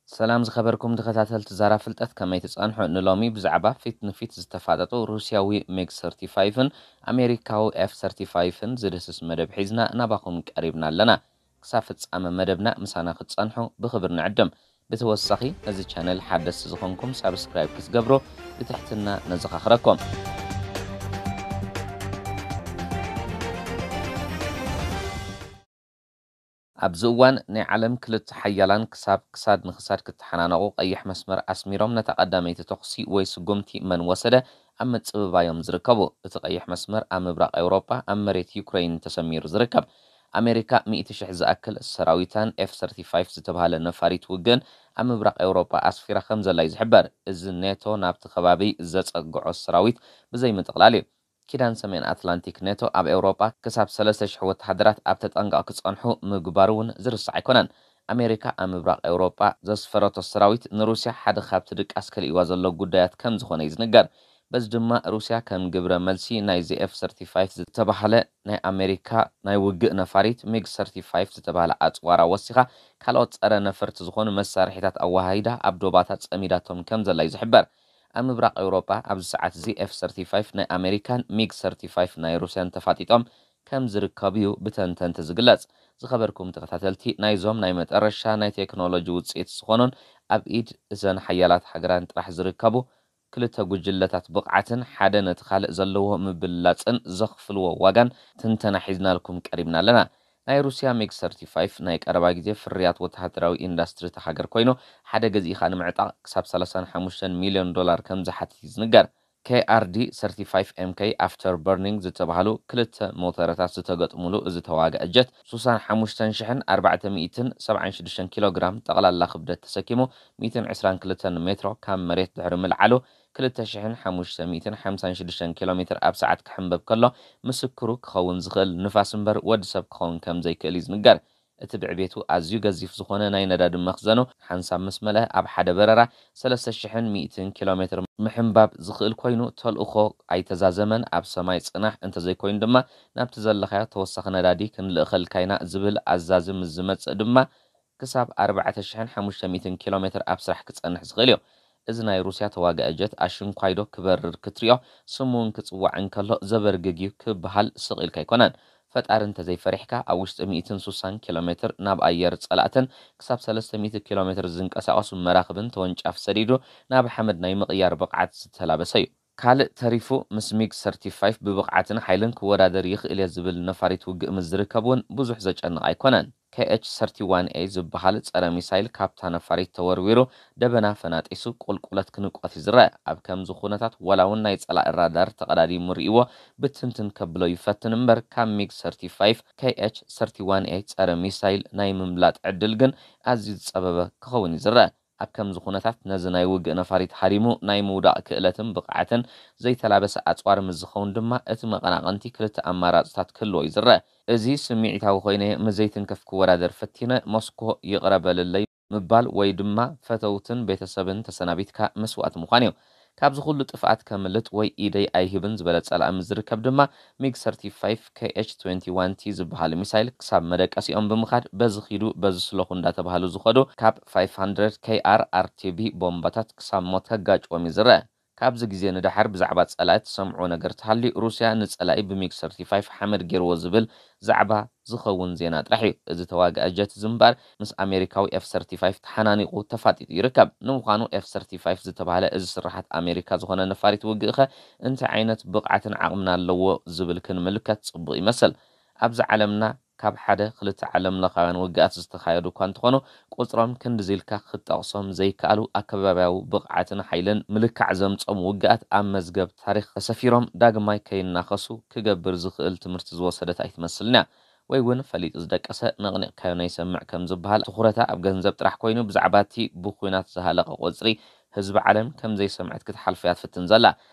ሰላም ዝኸበርኩም ተኸታተልቲ ዛራ ፍልጠት፣ ከመይ ትጸንሑ? ንሎሚ ብዛዕባ ፊት ንፊት ዝተፋጠጡ ሩስያዊ ሚግ ሰርቲፋይፍን ኣሜሪካዊ ኤፍ ሰርቲፋይፍን ዝድህስስ መደብ ሒዝና ናባኹም ቀሪብና ኣለና። ክሳብ ፍጻመ መደብና ምሳና ክትጸንሑ ብኽብር ንዕድም። ብተወሳኺ ነዚ ቻነል ሓደስቲ ዝኾንኩም ሳብስክራይብ ክትገብሩ ብትሕትና ነዘኻኽረኩም። ኣብዚ እዋን ናይ ዓለም ክልተ ሓያላን ክሳብ ክሳድ ንክሳድ ክተሓናነቑ ቀይሕ መስመር ኣስሚሮም ነታ ቀዳመይቲ ተኹሲ ወይ ስጉምቲ መን ወሰደ ኣብ ምጽብባዮም ዝርከቡ። እቲ ቀይሕ መስመር ኣብ ምብራቕ ኤውሮጳ ኣብ መሬት ዩክረይን ተሰሚሩ ዝርከብ። ኣሜሪካ ሚእቲ ሽሕ ዝኣክል ሰራዊታን ኤፍ ሰርቲፋይፍ ዝተባህለ ነፋሪት ውግእን ኣብ ምብራቕ ኤውሮጳ ኣስፊራ ከም ዘላ እዩ ዝሕበር። እዚ ኔቶ ናብቲ ከባቢ ዘጸግዖ ሰራዊት ብዘይምጥቕላል እዩ። ኪዳን ሰሜን ኣትላንቲክ ኔቶ ኣብ ኤውሮጳ ክሳብ ሰለስተ ሽሕ ወተሃደራት ኣብ ተጠንቀቕ ክጸንሑ ምግባሩ እውን ዝርሳዕ ኣይኮነን። ኣሜሪካ ኣብ ምብራቕ ኤውሮጳ ዘስፈረቶ ሰራዊት ንሩስያ ሓደ ካብቲ ድቃስ ከልእዋ ዘሎ ጉዳያት ከም ዝኾነ እዩ ዝንገር። በዚ ድማ ሩስያ ከም ግብረ መልሲ ናይዚ ኤፍ ሰርቲፋይፍ ዝተባህለ ናይ ኣሜሪካ ናይ ውግእ ነፋሪት ሚግ ሰርቲፋይፍ ዝተባህለ ኣጽዋራ ወሲኻ ካልኦት ጸረ ነፈርቲ ዝኾኑ መሳርሒታት ኣወሃሂዳ ኣብ ዶባታ ጸሚዳቶም ከም ዘላ እዩ ዝሕበር። ኣብ ምብራቕ ኤውሮጳ ኣብዚ ሰዓት እዚ ኤፍ ሰርቲፋይፍ ናይ ኣሜሪካን ሚግ ሰርቲፋይፍ ናይ ሩስያን ተፋጢጦም ከም ዝርከቡ እዩ ብተንተንቲ ዝግለጽ። ዝኸበርኩም ተኸታተልቲ፣ ናይዞም ናይ መጠረሻ ናይ ቴክኖሎጂ ውጽኢት ዝኾኑን ኣብ ኢድ እዘን ሓያላት ሃገራን ጥራሕ ዝርከቡ ክልተ ጉጅለታት ብቕዓትን ሓደ ነቲ ካልእ ዘለዎ ምብልላጽን ዘኽፍልዎ ዋጋን ትንተና ሒዝናልኩም ቀሪብና ኣለና። ናይ ሩስያ ሚግ ሰርቲፋይፍ ናይ ቀረባ ግዜ ፍርያት ወተሃደራዊ ኢንዳስትሪ እታ ሃገር ኮይኑ፣ ሓደ ገዚእኻ ንምዕጣቕ ክሳብ ሰላሳን ሓሙሽተን ሚልዮን ዶላር ከም ዝሓትት እዩ ዝንገር። ኬ ኣር ዲ ሰርቲፋይፍ ኤም ኬይ ኣፍተር በርኒንግ ዝተባህሉ ክልተ ሞተረታት ዝተገጥሙሉ እዚ ተዋጋኢ ጀት፣ ሱሳን ሓሙሽተን ሽሕን ኣርባዕተ ሚእትን ሰብዓን ሽዱሽተን ኪሎ ግራም ጠቕላላ ክብደት ተሰኪሙ፣ ሚእትን ዕስራን ክልተን ሜትሮ ካብ መሬት ድሕሪ ምልዓሉ፣ ክልተ ሽሕን ሓሙሽተ ሚእትን ሓምሳን ሽዱሽተን ኪሎ ሜትር ኣብ ሰዓት ክሕንበብ ከሎ፣ ምስክሩ ክኸውን ዝኽእል ንፋስ እምበር ወዲ ሰብ ክኸውን ከም ዘይክእል እዩ ዝንገር። እቲ ብዕቤቱ ኣዝዩ ገዚፍ ዝኾነ ናይ ነዳዲ መኽዘኑ፣ ሓንሳብ ምስ መልአ ኣብ ሓደ በረራ ሰለስተ ሽሕን ሚእትን ኪሎ ሜትር ምሕንባብ ዝኽእል ኮይኑ፣ ተልእኾ ኣይተዛዘመን። ኣብ ሰማይ ጽናሕ፣ እንተዘይኮይኑ ድማ ናብቲ ዘለኻዮ ተወሳኺ ነዳዲ ክንልእኸልካ ኢና ዝብል ኣዛዚ ምስ ዝመጽእ ድማ፣ ክሳብ ኣርባዕተ ሽሕን ሓሙሽተ ሚእትን ኪሎ ሜትር ኣብ ስራሕ ክጸንሕ ዝኽእል እዩ። እዚ ናይ ሩስያ ተዋጋኢ ጀት ኣሽንኳይዶ ክበርር ክትሪኦ፣ ስሙ እውን ክጽዋዕ እንከሎ ዘበርግግ እዩ ክበሃል ስቕ ኢልካ ኣይኮነን። ፈጣሪ እንተዘይፈሪሕካ፣ ኣብ ውሽጢ ሚእትን ሱሳን ኪሎ ሜትር ናብ ኣየር ጸላእትን ክሳብ ሰለስተ ሚእቲ ኪሎ ሜትር ዝንቀሳቐሱ መራኽብን ተወንጫፊ ሰዲዱ ናብ ሓመድ ናይ ምቕያር ብቕዓት ዝተላበሰ እዩ። ካልእ ተሪፉ፣ ምስ ሚግ ሰርቲፋይፍ ብብቕዓትን ሓይልን ክወዳደር ይኽእል እየ ዝብል ነፋሪት ውግእ ምስ ዝርከብ እውን ብዙሕ ዘጨንቕ ኣይኮነን። ኬ ኤች ሰርቲ ዋን ኤ ዝበሃል ጸረ ሚሳይል ካብታ ነፋሪት ተወርዊሩ ደበና ፈናጢሱ ቁልቁለት ክንቆት ይዝረእ። ኣብ ከምዚ ኩነታት ዋላ እውን ናይ ጸላኢ ራዳር ተቐዳዲሙ ርእይዎ ብትንትን ከብሎ ይፈትን እምበር፣ ካብ ሚግ ሰርቲፋይፍ ኬ ኤች ሰርቲ ዋን ኤ ጸረ ሚሳይል ናይ ምምላጥ ዕድል ግን ኣዝዩ ዝጸበበ ክኸውን ይዝረእ። ኣብ ከምዚ ኩነታት ነዚ ናይ ውግእ ነፋሪት ሃሪሙ ናይ ምውዳቕ ክእለትን ብቕዓትን ዘይተላበሰ ኣጽዋር ምስ ዝኸውን ድማ እቲ መቐናቕንቲ ክልተ ኣማራጽታት ክህልዎ ይዝረእ። እዚ ስምዒታዊ ኮይነ ምስ ዘይትንከፍ ክወዳደር ፈቲነ ሞስኮ ይቕረ በልለይ ምባል ወይ ድማ ፈተውትን ቤተሰብን ተሰናቢትካ መስዋእቲ ምዃን እዩ። ካብዚ ኩሉ ጥፍኣት ከምልጥ ወይ ኢደይ ኣይህብን ዝበለ ጸላኢ ምስ ዝርከብ ድማ ሚግ ሰርቲፋይፍ ኬ ኤች ትዌንቲ ዋን ቲ ዝበሃል ሚሳይል ክሳብ መደቀሲኦም ብምኻድ በዚ ኺዱ በዚ ስለኹ እንዳተባህሉ ዝኸዱ ካብ ፋይፍ ሃንድረድ ኬ ኣር ኣር ቲ ቢ ቦምባታት ክሳብ ሞት ከጋጭዎም ይዝረእ። ካብዚ ግዜ ንደሓር ብዛዕባ ጸላኢ ትሰምዕዎ ነገር ተሃልዩ፣ ሩስያ ንጸላኢ ብሚግ ሰርቲፋይፍ ሓመድ ገይርዎ ዝብል ዛዕባ ዝኸውን ዜና ጥራሕ እዩ። እዚ ተዋጋኢ ጀት እዚ እምበኣር ምስ ኣሜሪካዊ ኤፍ ሰርቲፋይፍ ተሓናኒቑ ተፋጢጡ ይርከብ። ንምዃኑ ኤፍ ሰርቲፋይፍ ዝተባህለ እዚ ስርሓት ኣሜሪካ ዝኾነ ነፋሪት ውግእኸ እንታይ ዓይነት ብቕዓትን ዓቕምን ኣለዎ ዝብል ክንምልከት ጽቡቕ ይመስል። ኣብዚ ዓለምና ካብ ሓደ ክልተ ዓለም ለኻውያን ውግኣት ዝተኻየዱ እኳ እንተኾኑ፣ ቁጽሮም ክንድዚ ኢልካ ክትጠቕሶም ዘይከኣሉ ኣከባብያዊ ብቕዓትን ሓይልን ምልካዕ ዘምጾም ውግኣት ኣብ መዝገብ ታሪኽ ተሰፊሮም ዳግማይ ከይናኸሱ ክገብር ዝኽእል ትምህርቲ ዝወሰደት ኣይትመስልን እያ። ወይ እውን ፈሊጡ ዝደቀሰ ነቕኒቕካዮ ነይሰምዕ ከም ዝበሃል ትኹረታ ኣብ ገንዘብ ጥራሕ ኮይኑ ብዛዕባ እቲ ብኹናት ዝሃለቐ ቁጽሪ ህዝቢ ዓለም ከም ዘይሰምዐት ክትሓልፎ እያ ትፍትን ዘላ።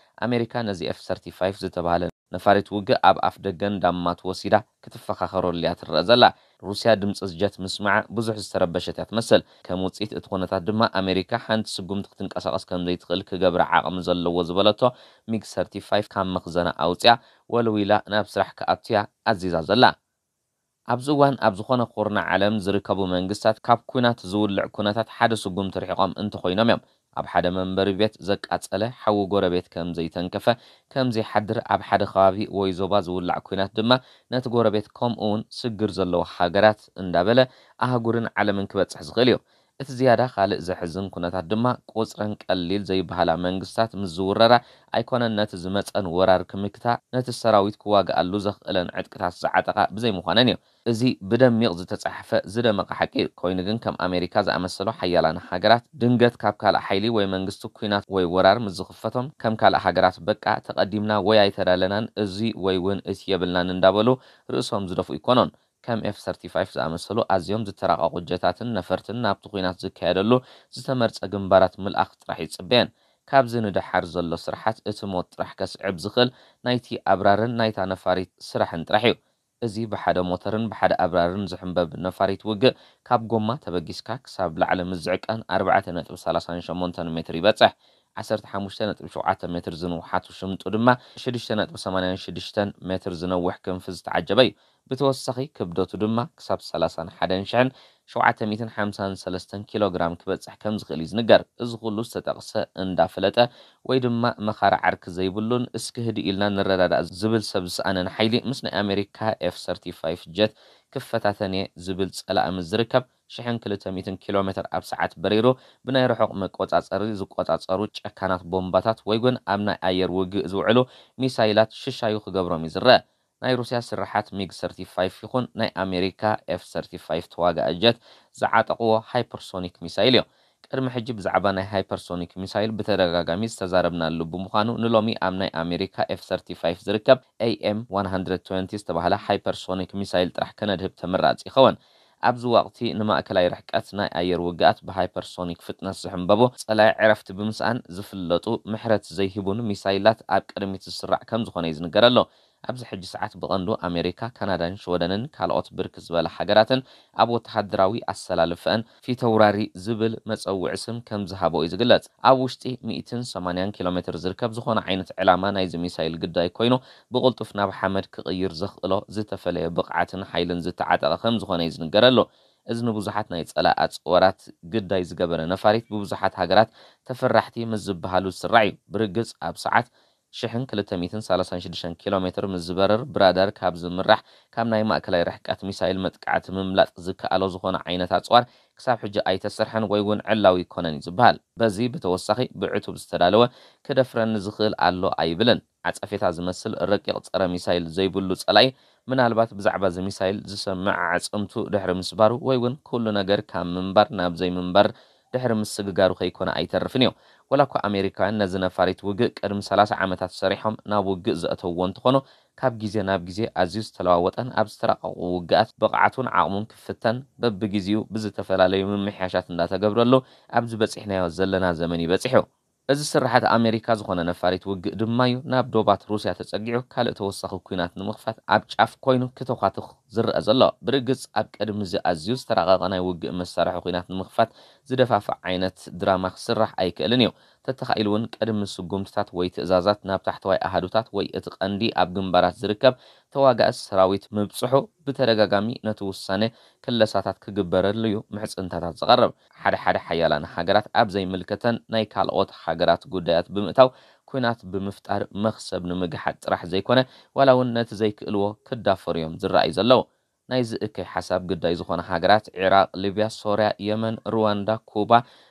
ኣሜሪካ ነዚ ኤፍ ሰርቲፋይፍ ዝተባህለ ነፋሪት ውግእ ኣብ ኣፍ ደገን ዳማት ወሲዳ ክትፈኻኸረሉ እያ ትረአ ዘላ። ሩስያ ድምፂ ጀት ምስማዓ ብዙሕ ዝተረበሸት እያ ትመስል። ከም ውፅኢት እቲ ኩነታት ድማ ኣሜሪካ ሓንቲ ስጉምቲ ክትንቀሳቐስ ከም ዘይትኽእል ክገብራ ዓቕሚ ዘለዎ ዝበለቶ ሚግ ሰርቲፋይፍ ካብ መኽዘና ኣውፅያ ወልዊላ ናብ ስራሕ ክኣቱ እያ ኣዚዛ ዘላ። ኣብዚ እዋን ኣብ ዝኾነ ኩርናዕ ዓለም ዝርከቡ መንግስታት ካብ ኲናት ዝውልዕ ኩነታት ሓደ ስጉምቲ ርሒቖም እንተኾይኖም እዮም። ኣብ ሓደ መንበሪ ቤት ዘቃጸለ ሓዊ ጎረቤት ከም ዘይተንከፈ፣ ከም ዘይሓድር ኣብ ሓደ ከባቢ ወይ ዞባ ዝውላዕ ኲናት ድማ ነቲ ጎረቤት ከምኡ እውን ስግር ዘለዎ ሃገራት እንዳበለ ኣህጉርን ዓለምን ክበጽሕ ዝኽእል እዩ። እቲ ዝያዳ ካልእ ዘሕዝን ኩነታት ድማ ቁጽረን ቀሊል ዘይበሃላ መንግስታት ምስ ዝውረራ ኣይኮነን ነቲ ዝመጸን ወራር ክምክታ ነቲ ሰራዊት ክዋግኣሉ ዘኽእለን ዕጥቅታት ዝዓጠቓ ብዘይምዃነን እዩ። እዚ ብደሚቕ ዝተጻሕፈ ዝደመቐ ሓቂ እዩ። ኮይኑ ግን ከም ኣሜሪካ ዝኣመሰሉ ሓያላን ሃገራት ድንገት ካብ ካልእ ሓይሊ ወይ መንግስቲ ኲናት ወይ ወራር ምስ ዝኽፈቶም ከም ካልእ ሃገራት በቃ ተቐዲምና ወይ ኣይተዳለናን እዚ ወይ እውን እቲ የብልናን እንዳበሉ ርእሶም ዝደፍኡ ኣይኮኑን። ከም ኤፍ ሰርቲፋይፍ ዝኣመሰሉ ኣዝዮም ዝተራቐቑ ጀታትን ነፈርትን ናብቲ ኲናት ዝካየደሉ ዝተመርጸ ግንባራት ምልኣኽ ጥራሕ ይጽበየን። ካብዚ ንደሓር ዘሎ ስራሓት እቲ ሞት ጥራሕ ከስዕብ ዝኽእል ናይቲ ኣብራርን ናይታ ነፋሪት ስራሕን ጥራሕ እዩ። እዚ ብሓደ ሞተርን ብሓደ ኣብራርን ዝሕንበብ ነፋሪት ውግእ ካብ ጎማ ተበጊስካ ክሳብ ላዕሊ ምስ ዝዕቀን ኣርባዕተ ነጥቢ ሰላሳን ሸሞንተን ሜትር ይበጽሕ። ዓሰርተ ሓሙሽተ ነጥቢ ሸውዓተ ሜትር ዝንውሓቱ ሽምጡ ድማ ሽዱሽተ ነጥቢ ሰማንያን ሽዱሽተን ሜትር ዝነውሕ ክንፊ ዝተዓጀበ እዩ። ብተወሳኺ ክብደቱ ድማ ክሳብ ሰላሳን ሓደን ሽሕን ሸውዓተ ሚእትን ሓምሳን ሰለስተን ኪሎ ግራም ክበጽሕ ከም ዝኽእል እዩ ዝንገር። እዚ ኩሉ ዝተጠቕሰ እንዳፈለጠ ወይ ድማ መኻሪ ዓርኪ ዘይብሉን እስኪ ህድእ ኢልና ንረዳዳእ ዝብል ሰብ ዝሰኣነን ሓይሊ ምስ ናይ ኣሜሪካ ኤፍ ሰርቲፋይፍ ጀት ክፈታተን እየ ዝብል ጸላኢ ምስ ዝርከብ ሽሕን ክልተ ሚእትን ኪሎ ሜትር ኣብ ሰዓት በሪሩ ብናይ ርሑቕ መቆጻጸሪ ዝቆጻጸሩ ጨካናት ቦምባታት ወይ እውን ኣብ ናይ ኣየር ውግእ ዝውዕሉ ሚሳይላት ሽሻዩ ክገብሮም እዩ ዝረአ። ናይ ሩስያ ስርሓት ሚግ ሰርቲፋይፍ ይኹን ናይ ኣሜሪካ ኤፍ ሰርቲፋይፍ ተዋጋኢ ጀት ዝዓጠቕዎ ሃይፐርሶኒክ ሚሳይል እዩ። ቅድሚ ሕጂ ብዛዕባ ናይ ሃይፐርሶኒክ ሚሳይል ብተደጋጋሚ ዝተዛረብናሉ ብምዃኑ ንሎሚ ኣብ ናይ ኣሜሪካ ኤፍ ሰርቲፋይፍ ዝርከብ ኤ ኤም ዋን ሃንድረድ ትወንቲ ዝተባህለ ሃይፐርሶኒክ ሚሳይል ጥራሕ ከነድህብ ተመራጺ ይኸውን። ኣብዚ ወቕቲ ንማእከላይ ርሕቀት ናይ ኣየር ውግኣት ብሃይፐርሶኒክ ፍጥነት ዝሕንበቡ ጸላኢ ዕረፍቲ ብምስኣን ዝፍለጡ ምሕረት ዘይህቡን ሚሳይላት ኣብ ቅድሚት ዝስራዕ ከም ዝኾነ እዩ ዝንገረሉ። ኣብዚ ሕጂ ሰዓት ብቐንዱ ኣሜሪካ፣ ካናዳን ሽወደንን ካልኦት ብርክት ዝበላ ሃገራትን ኣብ ወተሃደራዊ ኣሰላልፈአን ፊተውራሪ ዝብል መጸውዒ ስም ከም ዝሃቦ እዩ ዝግለጽ። ኣብ ውሽጢ ሚእትን ሰማንያን ኪሎ ሜትር ዝርከብ ዝኾነ ዓይነት ዕላማ ናይዚ ሚሳይል ግዳይ ኮይኑ ብቕልጡፍ ናብ ሓመድ ክቕይር ዘኽእሎ ዝተፈለየ ብቕዓትን ሓይልን ዝተዓጠቐ ከም ዝኾነ እዩ ዝንገረሉ። እዚ ንብዙሓት ናይ ጸላኢ ኣጽዋራት ግዳይ ዝገበረ ነፋሪት ብብዙሓት ሃገራት ተፈራሕቲ ምስ ዝበሃሉ ዝስራዕ እዩ። ብርግጽ ኣብ ሰዓት ሽሕን ክልተ ሚእትን ሰላሳን ሽዱሽተን ኪሎ ሜትር ምስ ዝበርር ብራዳር ካብ ዝምራሕ ካብ ናይ ማእከላይ ርሕቀት ሚሳይል መጥቃዕቲ ምምላጥ ዝከኣሎ ዝኾነ ዓይነት ኣጽዋር ክሳብ ሕጂ ኣይተሰርሐን ወይ እውን ዕላዊ ይኮነን እዩ ዝበሃል። በዚ ብተወሳኺ ብዕቱብ ዝተዳለወ ክደፍረኒ ዝኽእል ኣሎ ኣይብልን። ዓጸፌታ ዝመስል ረቂቕ ጸረ ሚሳይል ዘይብሉ ጸላኢ ምናልባት ብዛዕባ እዚ ሚሳይል ዝሰምዕ ኣዕጽምቱ ድሕሪ ምስባሩ ወይ እውን ኩሉ ነገር ካብ ምንባር ናብ ዘይምንባር ድሕሪ ምስግጋሩ ከይኮነ ኣይተርፍን እዩ። ወላ እኳ ኣሜሪካውያን ነዚ ነፋሪት ውግእ ቅድሚ ሰላሳ ዓመታት ሰሪሖም ናብ ውግእ ዘእተውዎ እንተኾኑ ካብ ግዜ ናብ ግዜ ኣዝዩ ዝተለዋወጠን ኣብ ዝተራቐቑ ውግኣት ብቕዓቱን ዓቕሙን ክፍተን በብግዜኡ ብዝተፈላለዩ ምምሕያሻት እንዳተገብረሉ ኣብዚ በጺሕናዮ ዘለና ዘመን እዩ በጺሑ። እዚ ስርሓት ኣሜሪካ ዝኾነ ነፋሪት ውግእ ድማ እዩ ናብ ዶባት ሩስያ ተጸጊዑ ካልእ ተወሳኺ ኲናት ንምኽፋት ኣብ ጫፍ ኮይኑ ክተዃትኽ ዝረአ ዘሎ። ብርግጽ ኣብ ቅድሚ እዚ ኣዝዩ ዝተራቐቐ ናይ ውግእ መሳርሒ ኲናት ንምኽፋት ዝደፋፍእ ዓይነት ድራማ ክስራሕ ኣይክእልን እዩ። ተተኻኢሉ እውን ቅድሚ ስጉምትታት ወይ ትእዛዛት ናብ ታሕተዋይ ኣሃዱታት ወይ እቲ ቀንዲ ኣብ ግንባራት ዝርከብ ተዋጋኢ ሰራዊት ምብጽሑ ብተደጋጋሚ ነቲ ውሳነ ክለሳታት ክግበረሉ እዩ ምሕጽንታታት ዝቐርብ። ሓደ ሓደ ሓያላን ሃገራት ኣብ ዘይምልከተን ናይ ካልኦት ሃገራት ጉዳያት ብምእታው ኲናት ብምፍጣር መኽሰብ ንምግሓጥ ጥራሕ ዘይኮነ ዋላ እውን ነቲ ዘይክእልዎ ክዳፈሩ እዮም ዝረኣዩ ዘለዉ። ናይዚ እከይ ሓሳብ ግዳይ ዝኾነ ሃገራት ዒራቕ፣ ሊብያ፣ ሶርያ፣ የመን፣ ሩዋንዳ፣ ኩባ፣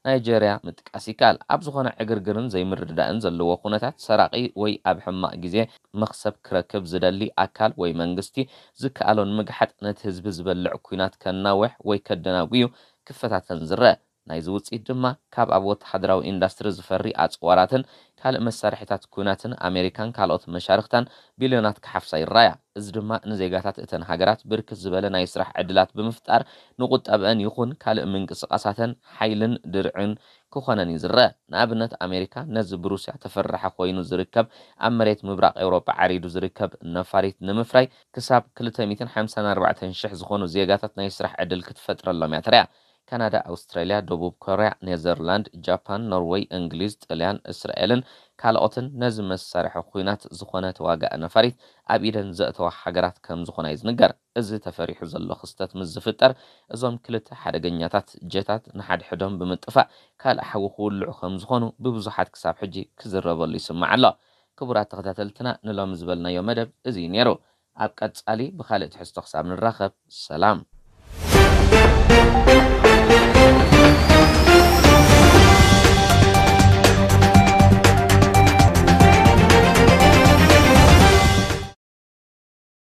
ናይጀርያ ምጥቃስ ይከኣል። ኣብ ዝኾነ ዕግርግርን ዘይምርድዳእን ዘለዎ ኩነታት ሰራቒ ወይ ኣብ ሕማቕ ግዜ መኽሰብ ክረክብ ዝደሊ ኣካል ወይ መንግስቲ ዝከኣሎ ንምግሓጥ ነቲ ህዝቢ ዝበልዕ ኲናት ከናውሕ ወይ ከደናጉዩ ክፈታተን ዝረአ። ናይዚ ውጽኢት ድማ ካብ ኣብ ወተሃደራዊ ኢንዳስትሪ ዝፈሪ ኣጽዋራትን ካልእ መሳርሒታት ኲናትን ኣሜሪካን ካልኦት መሻርኽታን ቢልዮናት ክሓፍሳ ይረኣያ። እዚ ድማ ንዜጋታት እተን ሃገራት ብርክት ዝበለ ናይ ስራሕ ዕድላት ብምፍጣር ንቁጠብአን ይኹን ካልእ ምንቅስቓሳተን ሓይልን ድርዕን ክኾነን እዩ ዝረአ። ንኣብነት ኣሜሪካ ነዚ ብሩስያ ተፈራሒ ኮይኑ ዝርከብ ኣብ መሬት ምብራቕ ኤውሮጳ ዓሪዱ ዝርከብ ነፋሪት ንምፍራይ ክሳብ ክልተ ሚእትን ሓምሳን ኣርባዕተን ሽሕ ዝኾኑ ዜጋታት ናይ ስራሕ ዕድል ክትፈጥረሎም እያ ተሪኣ። ካናዳ፣ ኣውስትራልያ፣ ደቡብ ኮርያ፣ ኔዘርላንድ፣ ጃፓን፣ ኖርወይ፣ እንግሊዝ፣ ጥልያን፣ እስራኤልን ካልኦትን ነዚ መሳርሒ ኲናት ዝኾነ ተዋጋኢ ነፋሪት ኣብ ኢደን ዘእተዋ ሃገራት ከም ዝኾና እዩ ዝንገር። እዚ ተፈሪሑ ዘሎ ክስተት ምስ ዝፍጠር፣ እዞም ክልተ ሓደገኛታት ጀታት ንሓድሕዶም ብምጥፋእ ካልእ ሓዊ ክውልዑ ከም ዝኾኑ ብብዙሓት ክሳብ ሕጂ ክዝረበሉ ይስማዕ ኣሎ። ክቡራት ተኸታተልትና፣ ንሎሚ ዝበልናዮ መደብ እዚ እዩ ነይሩ። ኣብ ቀጻሊ ብኻልእ ትሕዝቶ ክሳብ ንራኸብ፣ ሰላም።